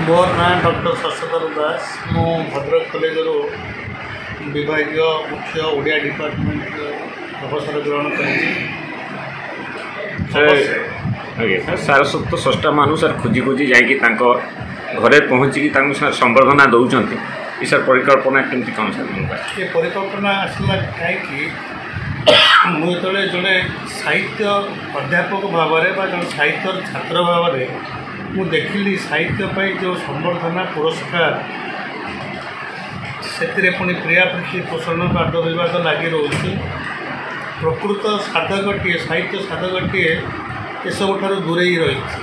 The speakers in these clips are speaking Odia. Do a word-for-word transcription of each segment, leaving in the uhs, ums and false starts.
ମୋର ନାଁ ଡକ୍ଟର ଶଶଧର ଦାସ। ମୁଁ ଭଦ୍ରକ କଲେଜରୁ ବିଭାଗୀୟ ମୁଖ୍ୟ ଓଡ଼ିଆ ଡିପାର୍ଟମେଣ୍ଟ ଅବସର ଗ୍ରହଣ କରିଛି। ସାର୍, ଆଜ୍ଞା ସାର୍, ସାରସ୍ୱତ ସ୍ରଷ୍ଟାମାନଙ୍କୁ ସାର୍ ଖୋଜି ଖୋଜି ଯାଇକି ତାଙ୍କ ଘରେ ପହଞ୍ଚିକି ତାଙ୍କୁ ସାର୍ ସମ୍ବର୍ଦ୍ଧନା ଦେଉଛନ୍ତି, ଏ ସାର୍ ପରିକଳ୍ପନା କେମିତି କ'ଣ ସାର୍ ମନକୁ ଆସିଲା? ଏ ପରିକଳ୍ପନା ଆସିଲା କାହିଁକି, ମୁଁ ଯେତେବେଳେ ଜଣେ ସାହିତ୍ୟ ଅଧ୍ୟାପକ ଭାବରେ ବା ଜଣେ ସାହିତ୍ୟର ଛାତ୍ର ଭାବରେ ମୁଁ ଦେଖିଲି ସାହିତ୍ୟ ପାଇଁ ଯେଉଁ ସମ୍ବର୍ଦ୍ଧନା ପୁରସ୍କାର, ସେଥିରେ ପୁଣି ପ୍ରିୟାପ୍ରୀତି ପୋଷଣ ବାଦ ବିବାଦ ଲାଗି ରହୁଛି। ପ୍ରକୃତ ସାଧକଟିଏ, ସାହିତ୍ୟ ସାଧକଟିଏ ଏସବୁଠାରୁ ଦୂରେଇ ରହିଛି।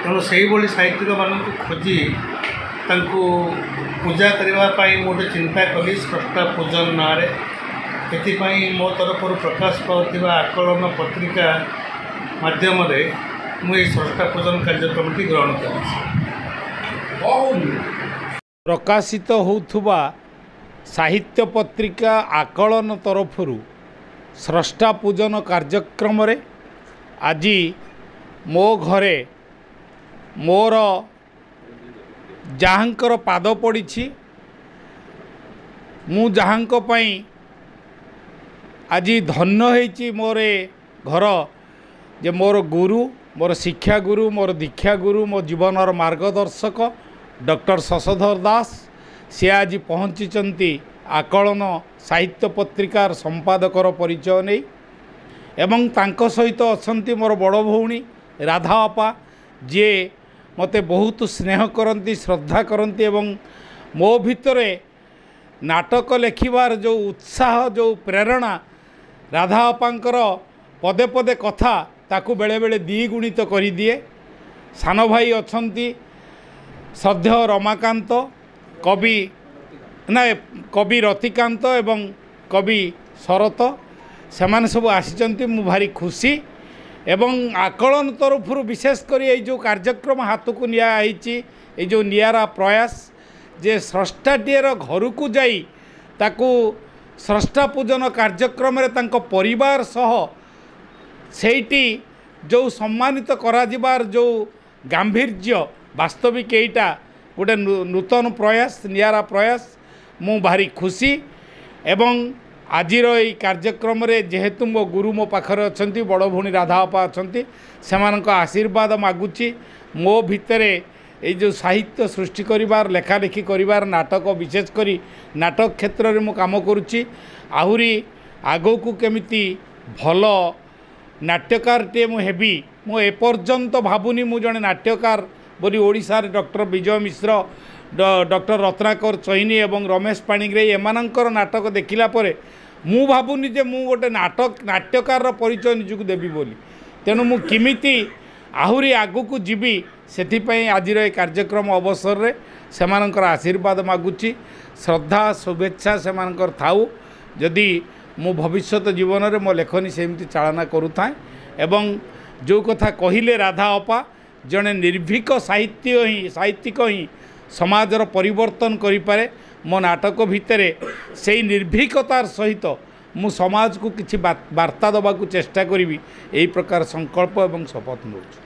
ତେଣୁ ସେଇଭଳି ସାହିତ୍ୟିକମାନଙ୍କୁ ଖୋଜି ତାଙ୍କୁ ପୂଜା କରିବା ପାଇଁ ମୁଁ ଗୋଟେ ଚିନ୍ତା କଲି ସ୍ରଷ୍ଟା ପୂଜନ ନାଁରେ। ଏଥିପାଇଁ ମୋ ତରଫରୁ ପ୍ରକାଶ ପାଉଥିବା ଆକଳନ ପତ୍ରିକା ମାଧ୍ୟମରେ ମୁଁ ଏହି ସ୍ରଷ୍ଟା ପୂଜନ କାର୍ଯ୍ୟକ୍ରମଟି ଗ୍ରହଣ କରିଛି। ପ୍ରକାଶିତ ହେଉଥିବା ସାହିତ୍ୟ ପତ୍ରିକା ଆକଳନ ତରଫରୁ ସ୍ରଷ୍ଟା ପୂଜନ କାର୍ଯ୍ୟକ୍ରମରେ ଆଜି ମୋ ଘରେ ମୋର ଯାହାଙ୍କର ପାଦ ପଡ଼ିଛି, ମୁଁ ଯାହାଙ୍କ ପାଇଁ ଆଜି ଧନ୍ୟ ହେଇଛି ମୋର ଏ ଘର, ଯେ ମୋର ଗୁରୁ, ମୋର ଶିକ୍ଷାଗୁରୁ, ମୋର ଦୀକ୍ଷାଗୁରୁ, ମୋ ଜୀବନର ମାର୍ଗଦର୍ଶକ ଡକ୍ଟର ଶଶଧର ଦାସ, ସେ ଆଜି ପହଞ୍ଚିଛନ୍ତି ଆକଳନ ସାହିତ୍ୟ ପତ୍ରିକାର ସମ୍ପାଦକର ପରିଚୟ ନେଇ। ଏବଂ ତାଙ୍କ ସହିତ ଅଛନ୍ତି ମୋର ବଡ଼ ଭଉଣୀ ରାଧା ଅପା, ଯିଏ ମୋତେ ବହୁତ ସ୍ନେହ କରନ୍ତି, ଶ୍ରଦ୍ଧା କରନ୍ତି ଏବଂ ମୋ ଭିତରେ ନାଟକ ଲେଖିବାର ଯେଉଁ ଉତ୍ସାହ, ଯେଉଁ ପ୍ରେରଣା, ରାଧା ଅପାଙ୍କର ପଦେ ପଦେ କଥା ତାକୁ ବେଳେବେଳେ ଦ୍ୱିଗୁଣିତ କରିଦିଏ। ସାନ ଭାଇ ଅଛନ୍ତି ଶ୍ରଦ୍ଧେୟ ରମାକାନ୍ତ, କବି ନା କବି ରତିକାନ୍ତ ଏବଂ କବି ଶରତ, ସେମାନେ ସବୁ ଆସିଛନ୍ତି। ମୁଁ ଭାରି ଖୁସି। ଏବଂ ଆକଳନ ତରଫରୁ ବିଶେଷ କରି ଏଇ ଯେଉଁ କାର୍ଯ୍ୟକ୍ରମ ହାତକୁ ନିଆହେଇଛି, ଏଇ ଯେଉଁ ନିଆରା ପ୍ରୟାସ ଯେ ସ୍ରଷ୍ଟାଟିଏର ଘରକୁ ଯାଇ ତାକୁ ସ୍ରଷ୍ଟା ପୂଜନ କାର୍ଯ୍ୟକ୍ରମରେ ତାଙ୍କ ପରିବାର ସହ ସେଇଠି ଯେଉଁ ସମ୍ମାନିତ କରାଯିବାର ଯେଉଁ ଗାମ୍ଭୀର୍ଯ୍ୟ, ବାସ୍ତବିକ ଏଇଟା ଗୋଟେ ନୂତନ ପ୍ରୟାସ, ନିଆରା ପ୍ରୟାସ। ମୁଁ ଭାରି ଖୁସି। ଏବଂ ଆଜିର ଏଇ କାର୍ଯ୍ୟକ୍ରମରେ ଯେହେତୁ ମୋ ଗୁରୁ ମୋ ପାଖରେ ଅଛନ୍ତି, ବଡ଼ ଭଉଣୀ ରାଧା ଅପା ଅଛନ୍ତି, ସେମାନଙ୍କ ଆଶୀର୍ବାଦ ମାଗୁଛି। ମୋ ଭିତରେ ଏଇ ଯେଉଁ ସାହିତ୍ୟ ସୃଷ୍ଟି କରିବାର, ଲେଖାଲେଖି କରିବାର, ନାଟକ ବିଶେଷ କରି ନାଟକ କ୍ଷେତ୍ରରେ ମୁଁ କାମ କରୁଛି, ଆହୁରି ଆଗକୁ କେମିତି ଭଲ ନାଟ୍ୟକାରଟିଏ ମୁଁ ହେବି। ମୁଁ ଏପର୍ଯ୍ୟନ୍ତ ଭାବୁନି ମୁଁ ଜଣେ ନାଟ୍ୟକାର ବୋଲି। ଓଡ଼ିଶାରେ ଡକ୍ଟର ବିଜୟ ମିଶ୍ର, ଡକ୍ଟର ରତ୍ନାକର ଚଇନି ଏବଂ ରମେଶ ପାଣିଗ୍ରାହୀ ଏମାନଙ୍କର ନାଟକ ଦେଖିଲା ପରେ ମୁଁ ଭାବୁନି ଯେ ମୁଁ ଗୋଟେ ନାଟକ ନାଟ୍ୟକାରର ପରିଚୟ ନିଜକୁ ଦେବି ବୋଲି। ତେଣୁ ମୁଁ କେମିତି ଆହୁରି ଆଗକୁ ଯିବି ସେଥିପାଇଁ ଆଜିର ଏ କାର୍ଯ୍ୟକ୍ରମ ଅବସରରେ ସେମାନଙ୍କର ଆଶୀର୍ବାଦ ମାଗୁଛି। ଶ୍ରଦ୍ଧା ଶୁଭେଚ୍ଛା ସେମାନଙ୍କର ଥାଉ, ଯଦି ମୁଁ ଭବିଷ୍ୟତ ଜୀବନରେ ମୋ ଲେଖନୀ ସେମିତି ଚାଳନା କରୁଥାଏ। ଏବଂ ଯେଉଁ କଥା କହିଲେ ରାଧା ଅପା, ଜଣେ ନିର୍ଭୀକ ସାହିତ୍ୟ ହିଁ ସାହିତ୍ୟିକ ହିଁ ସମାଜର ପରିବର୍ତ୍ତନ କରିପାରେ। ମୋ ନାଟକ ଭିତରେ ସେଇ ନିର୍ଭୀକତାର ସହିତ ମୁଁ ସମାଜକୁ କିଛି ବାର୍ତ୍ତା ଦେବାକୁ ଚେଷ୍ଟା କରିବି, ଏହି ପ୍ରକାର ସଂକଳ୍ପ ଏବଂ ଶପଥ ନେଉଛି।